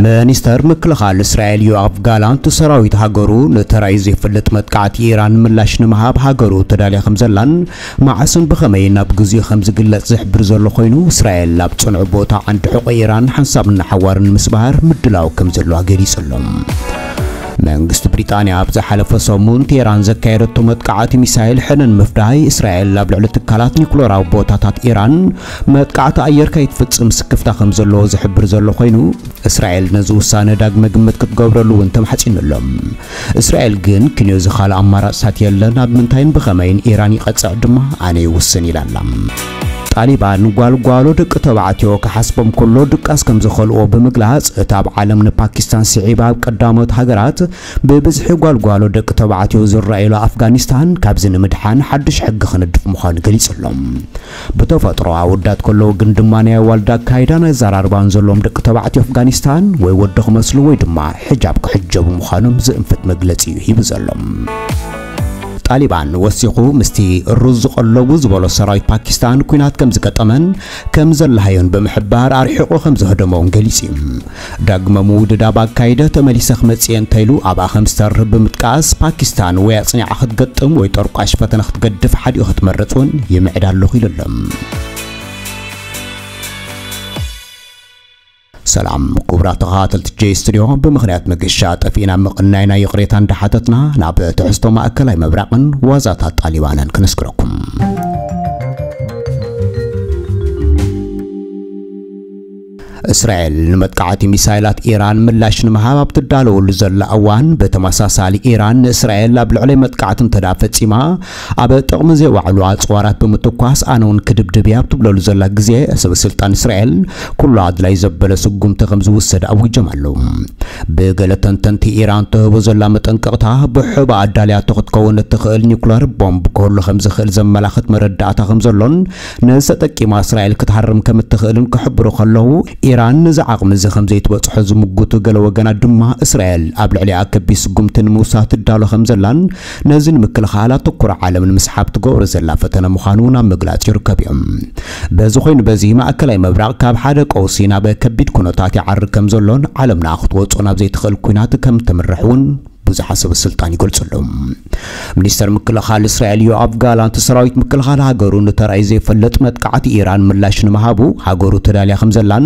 ሚኒስተር ምክልኻል እስራኤል ዮኣቭ ጋላንት፣ ሰራዊት ሃገሩ ንተራእዩ ዘይፈልጥ መጥቃዕቲ ኢራን ምላሽ ንምሃብ ሃገሩ ተዳልያ ከም ዘላን መዓስን ብኸመይን ኣብ ግዜኡ ከም ዝግለጽ ዝሕብር ዘሎ ኮይኑ፣ እስራኤል ኣብ ጽኑዕ ቦታ ዓንዲ ሕቖ ኢራን ሓንሳብ ንሓዋርን ንምስባር ምድላው ከም ዘለዋ ገሊጹ ኣሎ። መንግስቲ ብሪጣንያ ኣብ ዝሓለፈ ሰሙን ቴህራን ዘካየደቶ መጥቃዕቲ ሚሳይል ሕነ ንምፍዳይ፣ እስራኤል ኣብ ልዕሊ ትካላት ኒኩለራዊ ቦታታት ኢራን መጥቃዕቲ ኣየር ከይትፍጽም ስክፍታ ከም ዘለዎ ዝሕብር ዘሎ ኮይኑ፣ እስራኤል ነዚ ውሳነ ዳግመ ግምት ክትገብረሉ እውን ተማሕጺኑ ኣሎ። እስራኤል ግን ክንዮ ዝኻለ ኣማራጽታት የለን፣ ኣብ ምንታይን ብኸመይን ኢራን ይቐጽዕ ድማ ኣነ ይውስን ኢላ ኣላ። ጣሊባን ጓልጓሎ ደቂ ተባዕትዮ ክሓስቦም ከሎ ድቃስ ከም ዝኸልዎ ብምግላጽ፣ እታ ኣብ ዓለም ንፓኪስታን ስዒባ ኣብ ቀዳሞት ሃገራት ብብዝሒ ጓልጓሎ ደቂ ተባዕትዮ ዝረኣዩላ ኣፍጋኒስታን ካብዚ ንምድሓን ሓድሽ ሕጊ ክንድፍ ምዃኑ ገሊጹ ኣሎ። ብተፈጥሮ ኣወዳት ከለዉ ግን ድማ ናይ ኣዋልድ ኣካይዳን ኣዘራርባን ዘለዎም ደቂ ተባዕትዮ ኣፍጋኒስታን ወይ ወዲ ክመስሉ ወይ ድማ ሒጃብ ክሕጀቡ ምዃኖም ዝእንፍት መግለጺ እዩ ሂቡ ዘሎ። ጣሊባን ወሲኹ ምስቲ ሩዝ ዝቐለቡ ዝበሎ ሰራዊት ፓኪስታን ኲናት ከም ዝገጠመን ከም ዘላሃዮን ብምሕባር ኣርሒቑ ከም ዘህደሞን ገሊጹ እዩ። ዳግመ ምውድዳብ ኣካይደ ተመሊሰ ክመጽእ እየ እንተኢሉ ኣብኣ ከም ዝተርህብ ብምጥቃስ ፓኪስታን ወይ ኣጽኒዓ ክትገጥም ወይ ጠርቋሽ ፈተነ ክትገድፍ ሓዲኡ ክትመርጽ እውን ይምዕድ ኣለኹ ኢሉ ኣሎ። ሰላም ክቡራት ተኸታተልቲ ጄ ስቱዲዮ፣ ብምኽንያት መገሻ ጠፊእና ምቕናይና ይቕሬታ እንዳሓተትና ናብ ትሕዝቶ ማእከላይ ምብራቕን ዋዛታት ጣሊባንን ክነስግረኩም። እስራኤል ንመጥቃዕቲ ሚሳይላት ኢራን ምላሽ ንምሃብ ኣብ ትዳለወሉ ዘላ እዋን፣ ብተመሳሳሊ ኢራን ንእስራኤል ኣብ ልዕሊ መጥቃዕቲ እንተዳ ፈጺማ ኣብ ጥቕሚ ዘይዋዕሉ ኣጽዋራት ብምትኳስ ኣነ እውን ክድብድብ እየ ኣብ ትብለሉ ዘላ ግዜ፣ ሰበ ስልጣን እስራኤል ኩሉ ኣድላይ ዘበለ ስጉምቲ ከም ዝውሰድ ኣዊጆም ኣለዉ። ብገለ ተንተንቲ ኢራን ትህቦ ዘላ መጠንቀቕታ ብሕባ ኣዳልያቶ ክትከውን እትኽእል ኒኩለር ቦምብ ክህሉ ከም ዝኽእል ዘመላኽት መረዳእታ ከም ዘሎን ነዚ ተጠቂማ እስራኤል ክትሃርም ከም እትኽእልን ክሕብሩ ከለዉ፣ ኢራን ነዚ ዓቕሚ እዚ ከም ዘይትበጽሖ ዝምጉቱ ገለ ወገናት ድማ እስራኤል ኣብ ልዕሊኣ ከቢድ ስጉምቲ ንምውሳድ ትዳሎ ከም ዘላን ነዚ ንምክልኻል ኣተኩሮ ዓለም ንምስሓብ ትገብሮ ዘላ ፈተነ ምዃኑ ናብ ምግላጽ ይርከብ እዮም። በዚ ኮይኑ በዚ ማእከላይ ምብራቕ ካብ ሓደ ቀውሲ ናብ ከቢድ ኩነታት ይዓርግ ከም ዘሎን ዓለምና ክትወጾ ናብ ዘይትኽእል ኲናት ከም ትምርሕ እውን ብዙሓት ሰበ ስልጣን ይገልጹ ኣለዉ። ሚኒስተር ምክልኻል እስራኤል ዮኣቭ ጋላንት ሰራዊት ምክልኻል ሃገሩ ንተራእዩ ዘይፈልጥ መጥቃዕቲ ኢራን ምላሽ ንምሃቡ ሃገሩ ተዳልያ ከም ዘላን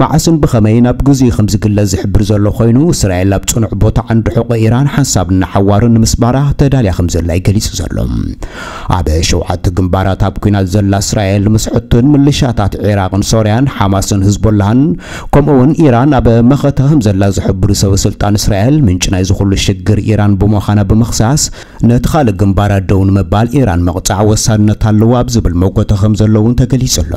መዓስን ብኸመይን ኣብ ግዜኡ ከም ዝግለጽ ዝሕብር ዘሎ ኮይኑ፣ እስራኤል ኣብ ጽኑዕ ቦታ ዓንዲ ሕቖ ኢራን ሓንሳብ ንሓዋሩ ንምስባራ ተዳልያ ከም ዘላ እዩ ገሊጹ ዘሎ። ኣብ ሸውዓተ ግንባራት ኣብ ኲናት ዘላ እስራኤል ምስ ሕቱን ምልሻታት ዒራቕን ሶርያን ሓማስን ህዝቦላህን ከምኡ እውን ኢራን ኣብ መኸተ ከም ዘላ ዝሕብሩ ሰበ ስልጣን እስራኤል፣ ምንጪ ናይዚ ኩሉ ሽግር ኢራን ብምዃና ብምኽሳስ፣ ነቲ ካልእ ግንባራት ደው ንምባል ኢራን ምቕጻዕ ወሳንነት ኣለዎ ኣብ ዝብል መጎተ ከም ዘሎ እውን ተገሊጹ ኣሎ።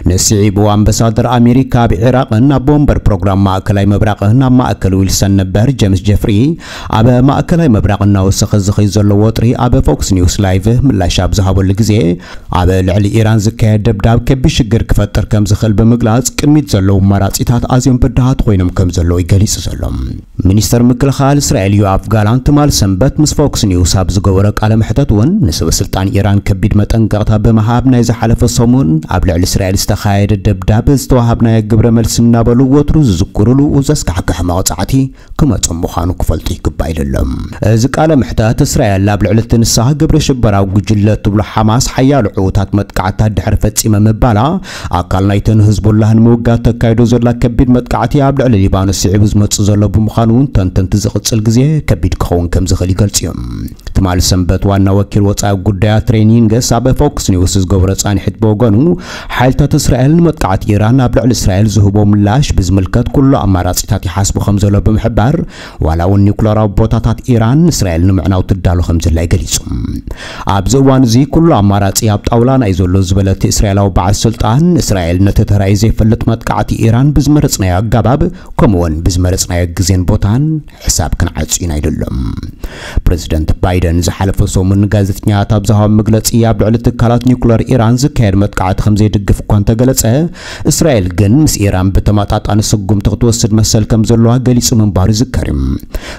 ንስዒቡ ኣምባሳደር ኣሜሪካ ኣብ ዒራቕን ኣብ ወንበር ፕሮግራም ማእከላይ ምብራቕን ኣብ ማእከል ዊልሰን ነበር ጀምስ ጀፍሪ ኣብ ማእከላይ ምብራቕ እናወሰኸ ዝኸይ ዘሎ ወጥሪ ኣብ ፎክስ ኒውስ ላይቭ ምላሽ ኣብ ዝሃበሉ ግዜ ኣብ ልዕሊ ኢራን ዝካየድ ደብዳብ ከቢድ ሽግር ክፈጥር ከም ዝኽእል ብምግላጽ ቅድሚት ዘለዉ ኣማራጺታት ኣዝዮም በዳሃት ኮይኖም ከም ዘለዉ እዩ ገሊጹ ዘሎ። ሚኒስተር ምክልኻል እስራኤል ዮኣፍ ጋላንት ትማል ሰንበት ምስ ፎክስ ኒውስ ኣብ ዝገበሮ ቃለ መሕተት እውን ንሰበ ስልጣን ኢራን ከቢድ መጠንቀቕታ ብምሃብ ናይ ዝሓለፈ ሰሙን ኣብ ልዕሊ እስራኤል ዝተኻየደ ደብዳብ ዝተዋሃብናዮ ግብረ መልሲ እናበሉ ወትሩ ዝዝክሩሉ ዘስካሕክሕ መቕጻዕቲ ክመጾም ምዃኑ ክፈልጡ ይግባእ ኢሉ ኣሎ። እዚ ቃለ ምሕተት እስራኤል ኣብ ልዕሊ እቲ ንሳ ግብረ ሽበራዊ ጉጅለ ትብሎ ሓማስ ሓያሎ ዕዉታት መጥቃዕታት ድሕሪ ፈጺመ ምባላ ኣካል ናይተን ህዝቡላህ ንምውጋድ ተካይዶ ዘላ ከቢድ መጥቃዕቲ ኣብ ልዕሊ ሊባኖስ ስዒቡ ዝመጽእ ዘሎ ብምዃኑ እውን ተንተንቲ ዝቕጽል ግዜ ከቢድ ክኸውን ከም ዝኽእል ይገልጹ እዮም። ትማል ሰንበት ዋና ወኪል ወጻኢ ጉዳያት ሬኒንገስ ኣብ ፎክስ ኒውስ ዝገብሮ ጻንሒት ብወገኑ ሓይልታት እስራኤል ንመጥቃዕቲ ኢራን ኣብ ልዕሊ እስራኤል ዝህቦ ምላሽ ብዝምልከት ኩሉ ኣማራጺታት ይሓስቡ ከም ዘሎ ብምሕባር ዋላ እውን ኒኩለራዊ ቦታታት ኢራን እስራኤል ንምዕናው ትዳሎ ከም ዘላ ገሊጹ። ኣብዚ እዋን እዚ ኩሉ ኣማራጺ ኣብ ጣውላና እዩ ዘሎ ዝበለ እቲ እስራኤላዊ በዓል ስልጣን እስራኤል ነቲ ተራእዩ ዘይፈልጥ መጥቃዕቲ ኢራን ብዝመረጽናዮ ኣገባብ ከምኡውን ብዝመረጽናዮ ግዜን ቦታን ሕሳብ ክንዓጹ ኢና ኢሉ ኣሎ። ፕሬዚደንት ባይደን ዝሓለፈ ሰሙን ንጋዜጠኛታት ኣብ ዝሃቦ መግለጺ ኣብ ልዕሊ ትካላት ኒኩለር ኢራን ዝካየድ መጥቃዕቲ ከም ዘይድግፍ እኳ እንተገለጸ እስራኤል ግን ምስ ኢራን ብተመጣጣኒ ስጉምቲ ክትወስድ መሰል ከም ዘለዋ ገሊጹ ምንባሩ ይዝከር እዩ።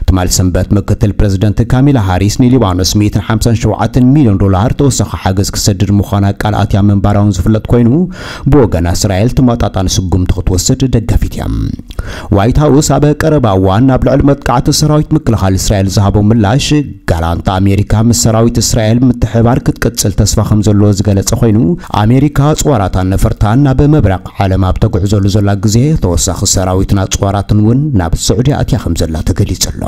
ትማል ሰንበት ምክትል ፕሬዚደንት ካሚላ ሃሪስ ንሊባኖስ ሚእትን ሓምሳን ሸውዓተ ኣርባዕተ ሚልዮን ዶላር ተወሳኺ ሓገዝ ክሰድድ ምዃና ቃል ኣትያ ምንባራውን ዝፍለጥ ኮይኑ፣ ብወገና እስራኤል ተመጣጣኒ ስጉምቲ ክትወስድ ደጋፊት እያ። ዋይት ሃውስ ኣብ ቀረባ እዋን ኣብ ልዕሊ መጥቃዕቲ ሰራዊት ምክልኻል እስራኤል ዝሃቦ ምላሽ፣ ጋላንት ኣሜሪካ ምስ ሰራዊት እስራኤል ምትሕባር ክትቅጽል ተስፋ ከም ዘለዎ ዝገለጸ ኮይኑ፣ ኣሜሪካ ኣጽዋራታን ነፈርታን ናብ ምብራቕ ዓለም ኣብ ተጉዕዘሉ ዘላ ግዜ፣ ተወሳኺ ሰራዊትን ኣጽዋራትን እውን ናብ ስዑዲ ኣትያ ከም ዘላ ተገሊጹ ኣሎ።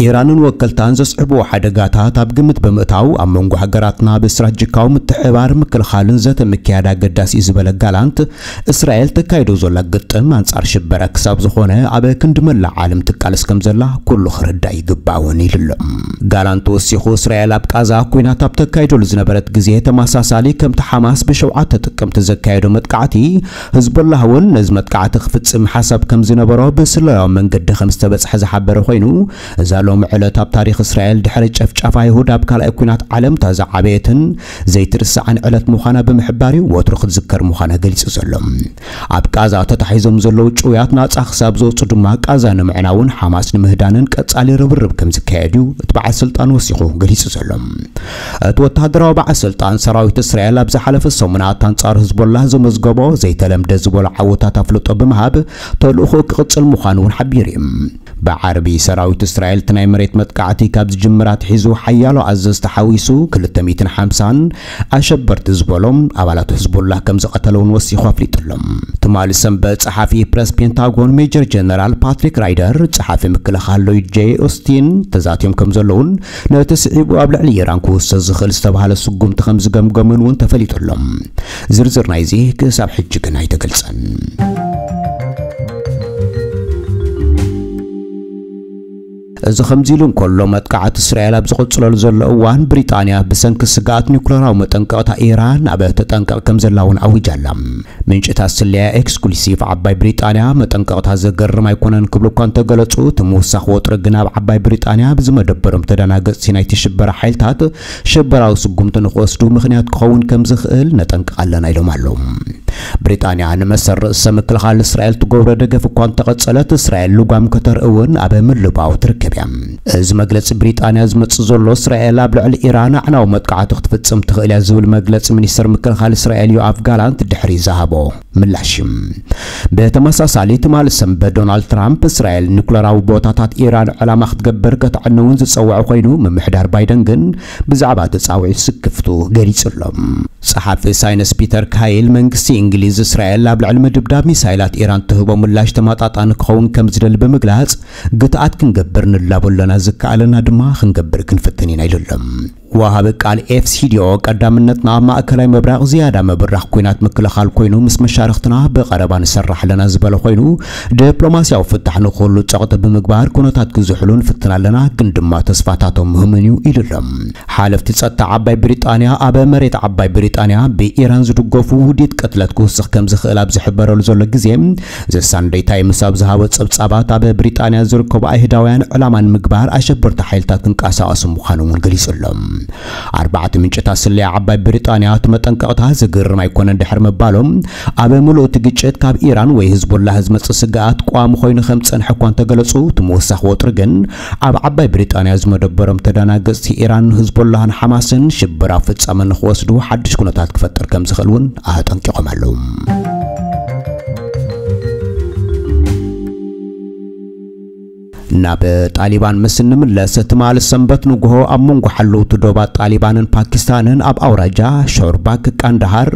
ኢራንን ወከልታን ዘስዕብዎ ሓደጋታት ኣብ ግምት ብምእታው፣ ኣብ መንጎ ሃገራትና ብስትራቴጂካዊ ምትሕብባር ምክልኻልን ዘተ ምክያድ ኣገዳሲ እዩ ዝበለ ጋላንት፣ እስራኤል ተካይዶ ዘላ ግጥም ኣንጻር ሽበራ ክሳብ ዝኾነ ኣብ ክንዲ መላእ ዓለም ትቃለስ ከም ዘላ ኩሉ ክርዳእ ይግባእ እውን ኢሉ ኣሎ። ጋላንት ወሲኹ፣ እስራኤል ኣብ ቃዛ ኲናት ኣብ ተካይደሉ ዝነበረት ግዜ ተመሳሳሊ ከምቲ ሓማስ ብሸውዓተ ጥቅምቲ ዘካየዶ መጥቃዕቲ፣ ህዝቦላህ እውን ነዚ መጥቃዕቲ ክፍጽም ሓሳብ ከም ዝነበሮ ብስለላዊ መንገዲ ከም ዝተበጽሐ ዝሓበረ ኮይኑ፣ እዛ ሎሚ ዕለት ኣብ ታሪኽ እስራኤል ድሕሪ ጨፍጫፍ ኣይሁድ ኣብ ካልኣይ ኲናት ዓለም እታ ዝዓበየትን ዘይትርሳዕን ዕለት ምዃና ብምሕባር እዩ ወትሩ ክትዝከር ምዃና ገሊጹ ዘሎ። ኣብ ቃዛ ተታሒዞም ዘለዉ ጭውያት ናጻ ክሳብ ዝወጹ ድማ ቃዛ ንምዕናውን ሓማስ ንምህዳንን ቀጻሊ ርብርብ ከም ዝካየድ እዩ እቲ በዓል ስልጣን ወሲኹ ገሊጹ ዘሎ። እቲ ወተሃደራዊ በዓል ስልጣን ሰራዊት እስራኤል ኣብ ዝሓለፈ ሰሙናት ኣንጻር ህዝቦላህ ዘመዝገቦ ዘይተለምደ ዝበሎ ዓወታት ኣፍልጦ ብምሃብ ተልእኾ ክቕጽል ምዃኑ እውን ሓቢሩ እዩ። ብዓርቢ ሰራዊት እስራኤል እቲ ናይ መሬት መጥቃዕቲ ካብ ዝጅምር ኣትሒዙ ሓያሎ ኣዘዝቲ ሓዊሱ ክልተ ሚእትን ሓምሳን ኣሸበርቲ ዝበሎም ኣባላት ህዝቦላህ ከም ዝቐተለ እውን ወሲኹ ኣፍሊጡ ኣሎ። ትማሊ ሰንበት ጸሓፊ ፕረስ ፔንታጎን ሜጀር ጀነራል ፓትሪክ ራይደር፣ ጸሓፊ ምክልኻል ሎይድ ጄ ኦስቲን ተዛትዮም ከም ዘለውን ነቲ ስዒቡ ኣብ ልዕሊ ኢራን ክውሰድ ዝኽእል ዝተባህለ ስጉምቲ ከም ዝገምገሙን እውን ተፈሊጡ ኣሎ። ዝርዝር ናይዚ ክሳብ ሕጂ ግን ኣይተገልጸን። እዚ ከምዚ ኢሉ እንከሎ፣ መጥቃዕቲ እስራኤል ኣብ ዝቕጽለሉ ዘሎ እዋን፣ ብሪጣንያ ብሰንኪ ስግኣት ኒውክለራዊ መጠንቀቕታ ኢራን ኣብ ተጠንቀቕ ከም ዘላ እውን ኣዊጃ ኣላ። ምንጭታት ስለያ ኤክስክሉሲቭ ዓባይ ብሪጣንያ መጠንቀቕታ ዘገርም ኣይኮነን ክብሉ እኳ እንተገለጹ፣ እቲ ምውሳኽ ወጥሪ ግን ኣብ ዓባይ ብሪጣንያ ብዝመደበሮም ተደናገጽቲ ናይቲ ሽበራ ሓይልታት ሽበራዊ ስጉምቲ ንክወስዱ ምኽንያት ክኸውን ከም ዝኽእል ነጠንቅቕ ኣለና ኢሎም ኣለዉ። ብሪጣንያ ንመሰል ርእሰ ምክልኻል እስራኤል ትገብሮ ደገፍ እኳ እንተቐጸለት፣ እስራኤል ልጓም ከተርኢ እውን ኣብ ምልባው ትርከብ እያ። እዚ መግለጺ ብሪጣንያ ዝመጽእ ዘሎ፣ እስራኤል ኣብ ልዕሊ ኢራን ኣዕናዊ መጥቃዕቲ ክትፍጽም ትኽእል እያ ዝብል መግለጺ ሚኒስትር ምክልኻል እስራኤል ዮኣቭ ጋላንት ድሕሪ ዝሃቦ ምላሽ እዩ። ብተመሳሳሊ፣ ትማሊ ሰንበት ዶናልድ ትራምፕ እስራኤል ኒኩለራዊ ቦታታት ኢራን ዕላማ ክትገብር ከተዕንውን ዝጸውዐ ኮይኑ፣ ምምሕዳር ባይደን ግን ብዛዕባ እቲ ጻውዒት ስክፍቱ ገሊጹ ኣሎ። ጸሓፊ ሳይንስ ፒተር ካይል፣ መንግስቲ እንግሊዝ እስራኤል ኣብ ልዕሊ ምድብዳብ ሚሳይላት ኢራን ትህቦ ምላሽ ተመጣጣኒ ክኸውን ከም ዝደሊ ብምግላጽ፣ ግትኣት ክንገብር ንላቦ ኣለና፣ ዝከኣለና ድማ ክንገብር ክንፍትን ኢና ኢሉ ኣሎ። ወሃቢ ቃል ኤፍ ሲ ዲ ኦ፣ ቀዳምነትና ኣብ ማእከላይ ምብራቕ ዝያዳ ምብራኽ ኲናት ምክልኻል ኮይኑ፣ ምስ መሻርኽትና ብቐረባ ንሰርሕ ኣለና ዝበለ ኮይኑ፣ ዲፕሎማስያዊ ፍታሕ ንኽህሉ ጸቕጢ ብምግባር ኩነታት ክዝሕሉ ንፍትን ኣለና፣ ግን ድማ ተስፋታቶም ምህምን እዩ ኢሉ ኣሎ። ሓለፍቲ ጸጥታ ዓባይ ብሪጣንያ፣ ኣብ መሬት ዓባይ ብሪጣንያ ብኢራን ዝድገፉ ውዲት ቅትለት ክውስኽ ከም ዝኽእል ኣብ ዝሕበረሉ ዘሎ ግዜ፣ ዘ ሳንደይ ታይምስ ኣብ ዝሃቦ ጸብጻባት፣ ኣብ ብሪጣንያ ዝርከቡ ኣይሁዳውያን ዕላማ ንምግባር ኣሸበርቲ ሓይልታት ክንቀሳቐሱ ምዃኖም እውን ገሊጹ ኣሎ። ኣርባዕተ ምንጭታት ስለያ ዓባይ ብሪጣንያ፣ እቲ መጠንቀቕታ ዘገርም ኣይኮነን ድሕሪ ምባሎም፣ ኣብ ምሉእ እቲ ግጭት ካብ ኢራን ወይ ህዝቦላህ ዝመጽእ ስግኣት ቀዋሚ ኮይኑ ከም ዝጸንሐ እኳ እንተገለጹ፣ እቲ ምውሳኽ ወጥሪ ግን ኣብ ዓባይ ብሪጣንያ ዝመደበሮም ተደናገጽቲ ኢራን፣ ህዝቦላህን ሓማስን ሽበራዊ ፍጻመ ንኽወስዱ ሓድሽ ኩነታት ክፈጥር ከም ዝኽእል እውን ኣጠንቂቖም ኣለዉ። ናብ ጣሊባን ምስ እንምለስ፣ ትማሊ ሰንበት ንግሆ ኣብ መንጎ ሓለውቲ ዶባት ጣሊባንን ፓኪስታንን ኣብ ኣውራጃ ሾርባክ ቃንዳሃር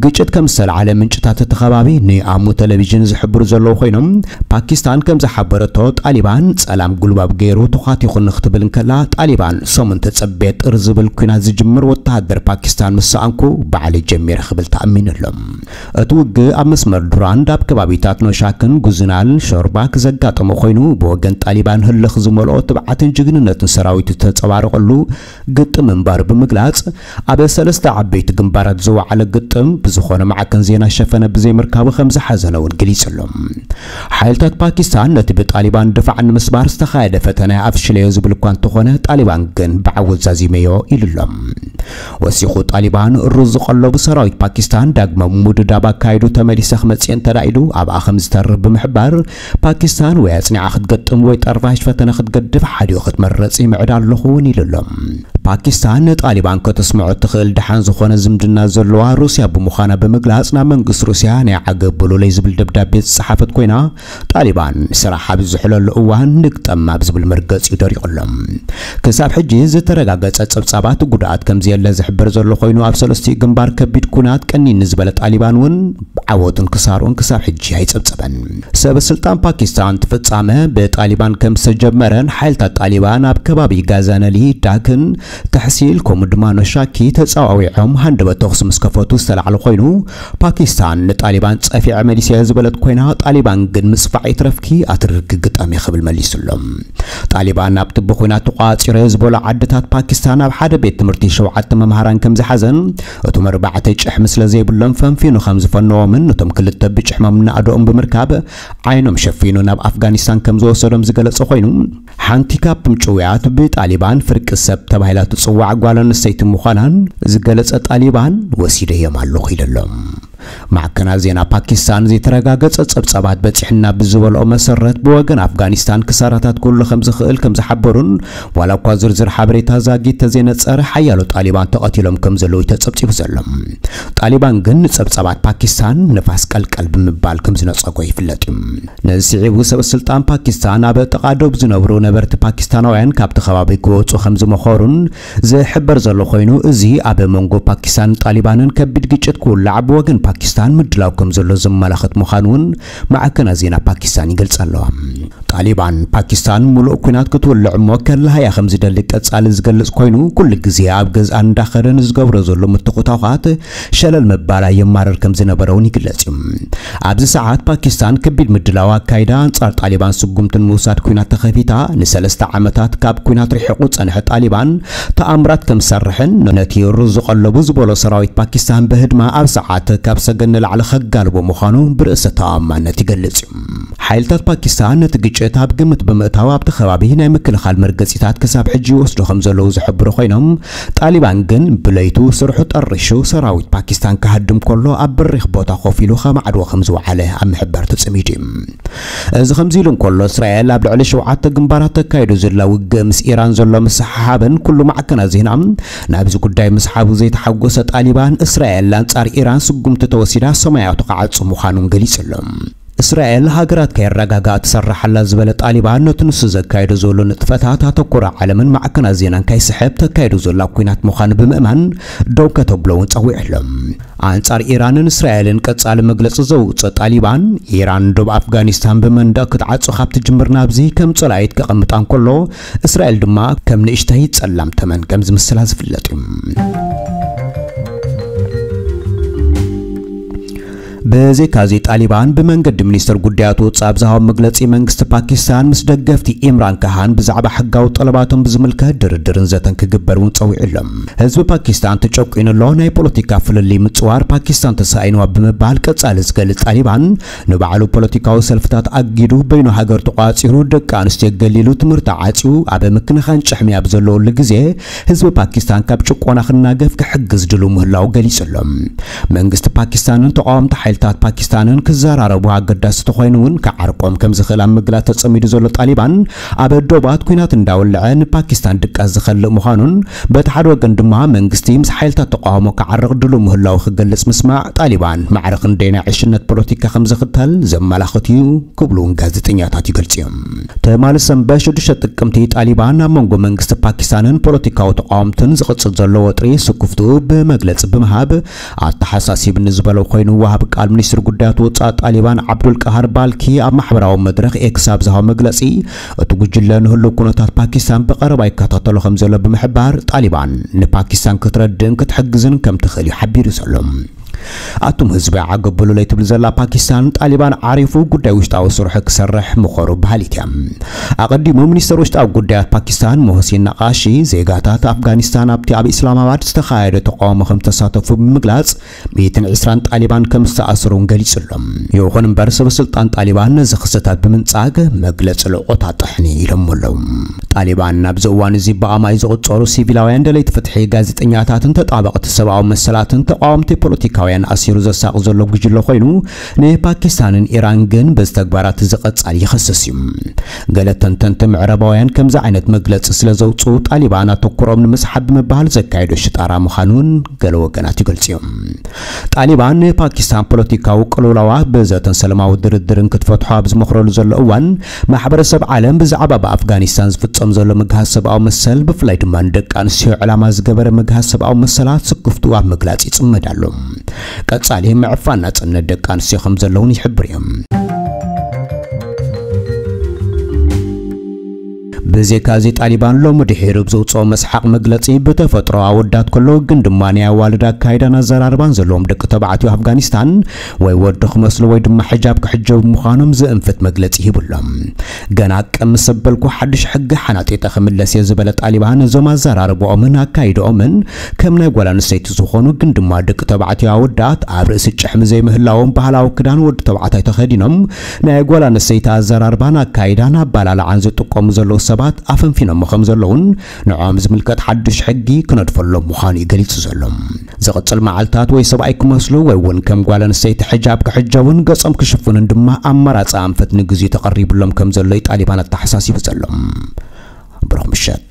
ግጭት ከም ዝተላዓለ ምንጭታት እቲ ከባቢ ንኣሙ ቴሌቪዥን ዝሕብሩ ዘለዉ ኮይኖም፣ ፓኪስታን ከም ዝሓበረቶ፣ ጣሊባን ጸላም ጉልባብ ገይሩ ተዃቲኹ ንክትብል እንከላ፣ ጣሊባን ሰሙን ተጸቤ ጥር ዝብል ኲናት ዝጅምር ወተሃደር ፓኪስታን ምስ ሰኣንኩ ባዕለይ ጀሚረ ክብል ተኣሚኑ ኣሎ። እቲ ውግእ ኣብ መስመር ዱራንድ ኣብ ከባቢታት ኖሻክን ጉዝናል ሾርባክ ዘጋጠመ ኮይኑ፣ ብወገን ጣሊባን ህልኽ ዝመልኦ ትብዓትን ጅግንነትን ሰራዊቱ ዝተንጸባረቐሉ ግጥም ምንባሩ ብምግላጽ፣ ኣብ ሰለስተ ዓበይቲ ግንባራት ዝወዓለ ግጥም ብዝኾነ ማዕከን ዜና ሸፈነ ብዘይምርካቡ ከም ዝሓዘነ እውን ገሊጹ ኣሎ። ሓይልታት ፓኪስታን ነቲ ብጣሊባን ድፋዕ ንምስባር ዝተኻየደ ፈተነ ኣፍሽለዮ ዝብል እኳ እንተኾነ፣ ጣሊባን ግን ብዓወት ዛዚመዮ ኢሉ ኣሎ። ወሲኹ፣ ጣሊባን ሩዝ ዝቐለቡ ሰራዊት ፓኪስታን ዳግመ ምውድዳብ ኣካይዱ ተመሊሰ ክመጽእ እንተዳኢሉ ኣብኣ ከም ዝተርፍ ብምሕባር፣ ፓኪስታን ወይ ኣጽኒዓ ክትገጥም ወይ ጠርፋሽ ፈተነ ክትገድፍ ሓዲኡ ክትመርጽ ይምዕድ ኣለኹ እውን ኢሉ ኣሎ። ፓኪስታን ንጣሊባን ከተስምዖ ትኽእል ደሓን ዝኾነ ዝምድና ዘለዋ ሩስያ ብምዃና ብምግላጽ፣ ናብ መንግስቲ ሩስያ ናይ ዓገብ ብሉለይ ዝብል ደብዳቤ ዝጸሓፈት ኮይና፣ ጣሊባን ስራሕ ኣብ ዝዝሕለሉ እዋን ንግጠም ኣብ ዝብል መርገጺ ደሪቑ ኣሎ። ክሳብ ሕጂ ዝተረጋገጸ ጸብጻባት ጉድኣት ከምዘየለ ዝሕበር ዘሎ ኮይኑ፣ ኣብ ሰለስቲኡ ግንባር ከቢድ ኩናት ቀኒኒ ዝበለ ጣሊባን እውን ዓወቱን ክሳርኡን ክሳብ ሕጂ ኣይጸብጸበን። ሰብ ስልጣን ፓኪስታን እቲ ፍጻመ ብጣሊባን ከም ዝተጀመረን ሓይልታት ጣሊባን ኣብ ከባቢ ጋዛነሊ ዳክን ተሕሲል ከምኡ ድማ ኖሻኪ ተጻዋዊዖም ሃንደበት ተኹሲ ምስ ከፈቱ ዝተላዕለ ኮይኑ፣ ፓኪስታን ንጣሊባን ጸፊዐ መሊሰ ዝበለት ኮይና፣ ጣሊባን ግን ምጽፋዕ ይትረፍኪ ኣትርርኪ ግጠሚ ክብል መሊሱሎም። ጣሊባን ኣብቲ ብኹናት ተቋጺረ ዝበሎ ዓድታት ፓኪስታን ኣብ ሓደ ቤት ትምህርቲ ሸውዓተ መምሃራን ከም ዝሓዘን፣ እቶም ኣርባዕተ ጭሕሚ ስለ ዘይብሎም ፈንፊኑ ከም ዝፈነዎምን፣ ነቶም ክልተ ብጭሕሞም እናኣደኦም ብምርካብ ዓይኖም ሸፊኑ ናብ ኣፍጋኒስታን ከም ዝወሰዶም ዝገለጸ ኮይኑ፣ ሓንቲ ካብቶም ጭውያት ብጣሊባን ፍርቂ ሰብ ተባሂላ ትጽዋዕ ጓል ኣንስተይቲ ምዃናን ዝገለጸ ጣሊባን ወሲደዮም ኣለኹ ኢሉ ኣሎ። ማዕከናት ዜና ፓኪስታን ዘይተረጋገጸ ጸብጻባት በጺሕና ብዝበልኦ መሰረት፣ ብወገን ኣፍጋኒስታን ክሳራታት ክህሉ ከም ዝኽእል ከም ዝሓበሩን፣ ዋላ እኳ ዝርዝር ሓበሬታ ዛጊት ተዘይነጸረ፣ ሓያሎ ጣሊባን ተቐቲሎም ከም ዘለዉ ተጸብጺቡ ዘሎ። ጣሊባን ግን ንጸብጻባት ፓኪስታን ንፋስ ቀልቀል ብምባል ከም ዝነጸጎ ይፍለጥ እዩ። ነዚ ስዒቡ ሰብ ስልጣን ፓኪስታን ኣብ ጥቓ ዶብ ዝነብሩ ነበርቲ ፓኪስታናውያን ካብቲ ከባቢ ክወጹ ከም ዝመኸሩን ዝሕበር ዘሎ ኮይኑ፣ እዚ ኣብ መንጎ ፓኪስታን ጣሊባንን ከቢድ ግጭት ክውላዕ ብወገን ፓኪስታን ምድላው ከም ዘሎ ዘመላኽት ምዃኑ እውን ማዕከናት ዜና ፓኪስታን ይገልጻ ኣለዋ። ጣሊባን ፓኪስታን ሙሉእ ኲናት ክትውልዕ እሞ ከላሃያ ከም ዝደሊ ቀጻሊ ዝገልጽ ኮይኑ፣ ኩሉ ግዜ ኣብ ገዝኣ እንዳኸደ ንዝገብሮ ዘሎ ምትኹታዃት ሸለል ምባላ የማርር ከም ዝነበረ እውን ይግለጽ እዩ። ኣብዚ ሰዓት ፓኪስታን ከቢድ ምድላው ኣካይዳ ኣንጻር ጣሊባን ስጉምቲ ንምውሳድ ኲናት ተኸፊታ። ንሰለስተ ዓመታት ካብ ኲናት ርሒቑ ዝጸንሐ ጣሊባን ተኣምራት ከም ዝሰርሕን ነቲ ሩዝ ዝቐለቡ ዝበሎ ሰራዊት ፓኪስታን ብህድማ ኣብ ሰዓት ካብ ሰገን ንላዕሊ ከጋልቦ ምዃኑ ብርእሰ ተኣማንነት ይገልጽ እዩ። ሓይልታት ፓኪስታን ነቲ ግጭት ኣብ ግምት ብምእታው ኣብቲ ከባቢ ናይ ምክልኻል መርገጺታት ክሳብ ሕጂ ይወስዱ ከም ዘለዉ ዝሕብሩ ኮይኖም፣ ጣሊባን ግን ብለይቱ ስርሑ ጠሪሹ ሰራዊት ፓኪስታን ክሃድም ከሎ ኣብ በሪኽ ቦታ ኮፍ ኢሉ ከማዕድዎ ከም ዝወዓለ ኣብ ምሕባር ተጸሚዱ እዩ። እዚ ከምዚ ኢሉ እንከሎ፣ እስራኤል ኣብ ልዕሊ ሸውዓተ ግንባራት ተካይዱ ዘላ ውግእ ምስ ኢራን ዘሎ ምስሓሓብን ኩሉ ማዕከናት ዜና ናብዚ ጉዳይ ምስሓቡ ዘይተሓጎሰ ጣሊባን፣ እስራኤል ኣንጻር ኢራን ስጉምቲ ተወሲዳ ሰማያቱ ክዓጹ ምዃኑን ገሊጹ ኣሎ። እስራኤል ሃገራት ከየረጋግኣ ትሰርሕ ኣላ ዝበለ ጣሊባን፣ ነቲ ንሱ ዘካይዶ ዘሎ ንጥፈታት ኣተኩሮ ዓለምን ማዕከናት ዜናን ከይስሕብ ተካይዶ ዘላ ኲናት ምዃኑ ብምእማን ደው ከተብሎ እውን ጸዊዑ ኣሎ። ኣንጻር ኢራንን እስራኤልን ቀጻሊ መግለጺ ዘውጽእ ጣሊባን፣ ኢራን ዶብ ኣፍጋኒስታን ብመንደቕ ክትዓጹ ካብ ትጅምር ናብዚ ከም ጸላኢት ከቐምጣ እንከሎ፣ እስራኤል ድማ ከም ንእሽተይ ጸላም ተመን ከም ዝምስላ ዝፍለጥ እዩ። ብዘይካዚ ጣሊባን ብመንገዲ ሚኒስትር ጉዳያት ወጻኢ ኣብ ዝሃቦ መግለጺ፣ መንግስቲ ፓኪስታን ምስ ደገፍቲ ኢምራን ካሃን ብዛዕባ ሕጋዊ ጠለባቶም ብዝምልከት ድርድርን ዘተን ክግበር እውን ጸዊዑ ኣሎ። ህዝቢ ፓኪስታን ተጨቁኑ ኣሎ፣ ናይ ፖለቲካ ፍልልይ ምጽዋር ፓኪስታን ተሳኢንዋ ብምባል ቀጻሊ ዝገልጽ ጣሊባን፣ ንባዕሉ ፖለቲካዊ ሰልፍታት ኣጊዱ በይኑ ሃገር ተቋጺሩ ደቂ ኣንስትዮ ገሊሉ ትምህርቲ ዓጽዩ ኣብ ምክንኻን ጭሕሚ ኣብ ዘለወሉ ግዜ ህዝቢ ፓኪስታን ካብ ጭቆና ክናገፍ ክሕግዝ ድሉ ምህላው ገሊጹ ኣሎ። መንግስቲ ፓኪስታንን ተቃወምቲ ሓይልታት ፓኪስታንን ክዘራረቡ ኣገዳሲ ተኾይኑ እውን ክዓርቆም ከም ዝኽእል ኣብ ምግላጽ ተጸሚዱ ዘሎ ጣሊባን ኣብ ዶባት ኲናት እንዳወልዐ ንፓኪስታን ድቃስ ዝኸልእ ምዃኑን በቲ ሓደ ወገን ድማ መንግስቲ ምስ ሓይልታት ተቃውሞ ክዓርቕ ድሉ ምህላው ክገልጽ ምስማዕ ጣሊባን ማዕረ ክንደይ ናይ ዕሽነት ፖለቲካ ከም ዝኽተል ዘመላኽት እዩ ክብሉ እውን ጋዜጠኛታት ይገልጹ እዮም። ትማሊ ሰንበት ሽዱሽተ ጥቅምቲ ጣሊባን ኣብ መንጎ መንግስቲ ፓኪስታንን ፖለቲካዊ ተቃወምትን ዝቕጽል ዘሎ ወጥሪ ስኩፍትኡ ብመግለጺ ብምሃብ ኣተሓሳሲብኒ ዝበሎ ኮይኑ፣ ወሃቢ ቃል ሚኒስትሪ ጉዳያት ወጻኢ ጣሊባን ዓብዱል ቃሃር ባልኪ ኣብ ማሕበራዊ መድረኽ ኤክስ ኣብ ዝሃቦ መግለጺ፣ እቲ ጉጅለ ንህሉው ኩነታት ፓኪስታን ብቐረባ ይከታተሎ ከም ዘሎ ብምሕባር፣ ጣሊባን ንፓኪስታን ክትረድእን ክትሕግዝን ከም ትኽእል እዩ ሓቢሩ ዘሎ። ኣቱም ህዝቢ ዓገብ በሉለይ ትብል ዘላ ፓኪስታን፣ ጣሊባን ዓሪፉ ጉዳይ ውሽጣዊ ስርሑ ክሰርሕ ምኸሩ በሃሊት እያ። ኣቐዲሙ ሚኒስተር ውሽጣዊ ጉዳያት ፓኪስታን ሞህሲን ናቃሺ፣ ዜጋታት ኣፍጋኒስታን ኣብቲ ኣብ ኢስላማባድ ዝተኻየደ ተቃውሞ ከም ዝተሳተፉ ብምግላጽ፣ ሚእትን ዕስራን ጣሊባን ከም ዝተኣሰሩ እውን ገሊጹ ኣሎ። ይኹን እምበር፣ ሰበ ስልጣን ጣሊባን ነዚ ክስተታት ብምንጻግ መግለጺ ልዑል ቁጣ ጥሕኒ ኢሎሞ ኣለዉ። ጣሊባን ኣብዚ እዋን እዚ ብኣማይ ዝቑጸሩ ሲቪላውያን ደለይቲ ፍትሒ፣ ጋዜጠኛታትን ተጣበቕቲ ሰብኣዊ መሰላትን ተቃወምቲ ፖለቲካውያን ኤርትራውያን ኣሲሩ ዘሳቕ ዘሎ ጉጅለ ኮይኑ፣ ንፓኪስታንን ኢራን ግን በዚ ተግባራት እዚ ቀጻሊ ይኸስስ እዩ። ገለ ተንተንቲ ምዕራባውያን ከምዚ ዓይነት መግለጺ ስለ ዘውጽኡ፣ ጣሊባን ኣተኩሮም ንምስሓብ ብምባል ዘካየዶ ሽጣራ ምዃኑን ገለ ወገናት ይገልጹ እዮም። ጣሊባን ንፓኪስታን ፖለቲካዊ ቅልውላዋ ብዘተን ሰላማዊ ድርድርን ክትፈትሖ ኣብ ዝመኽረሉ ዘሎ እዋን፣ ማሕበረሰብ ዓለም ብዛዕባ ብኣፍጋኒስታን ዝፍጸም ዘሎ ምግሃስ ሰብኣዊ መሰል፣ ብፍላይ ድማ ንደቂ ኣንስትዮ ዕላማ ዝገበረ ምግሃስ ሰብኣዊ መሰላት ስክፍትኡ ኣብ ምግላጽ ይጽመድ ኣሎ። ቀጻሊ ምዕፋን ናጽነት ደቂ ኣንስትዮ ከም ዘለውን ይሕብር እዩ። ብዜካ እዚ ጣሊባን ሎሚ ድሒሩ ብዘውፅኦ መስሓቕ መግለፂ፣ ብተፈጥሮ ኣወዳት ከሎ ግን ድማ ናይ ኣዋልድ ኣካይዳን ኣዘራርባን ዘለዎም ደቂ ተባዕትዮ ኣፍጋኒስታን ወይ ወዲ ክመስሉ ወይ ድማ ሕጃብ ክሕጀቡ ምዃኖም ዝእንፍት መግለፂ ሂቡ ኣሎ። ገና ቅም ምስ ኣበልኩ ሓድሽ ሕጊ ሓናጢጠ ክምለስ እየ ዝበለ ጣሊባን፣ እዞም ኣዘራርባኦምን ኣካይዳኦምን ከም ናይ ጓል ኣንስተይቲ ዝኾኑ ግን ድማ ደቂ ተባዕትዮ ኣወዳት ኣብ ርእሲ ጭሕሚ ዘይምህላዎም፣ ባህላዊ ክዳን ወዲ ተባዕታይ ተኸዲኖም ናይ ጓል ኣንስተይቲ ኣዘራርባን ኣካይዳን ኣባላልዓን ዝጥቀሙ ዘለዉ ሰባት ኣፈንፊኖሞ ከም ዘለዉን ንዕኦም ዝምልከት ሓድሽ ሕጊ ክነድፈሎም ምዃኑ እዩ ገሊጹ ዘሎ። ዝቕጽል መዓልታት ወይ ሰብኣይ ክመስሉ ወይ እውን ከም ጓል ኣንስተይቲ ሕጃብ ክሕጀቡን ገጾም ክሽፍኑን ድማ ኣማራጺ ኣንፈት ንግዜኡ ተቐሪቡሎም ከም ዘሎ እዩ ጣሊባን ኣተሓሳሲቡ ዘሎ። ብሩኽ ምሸት።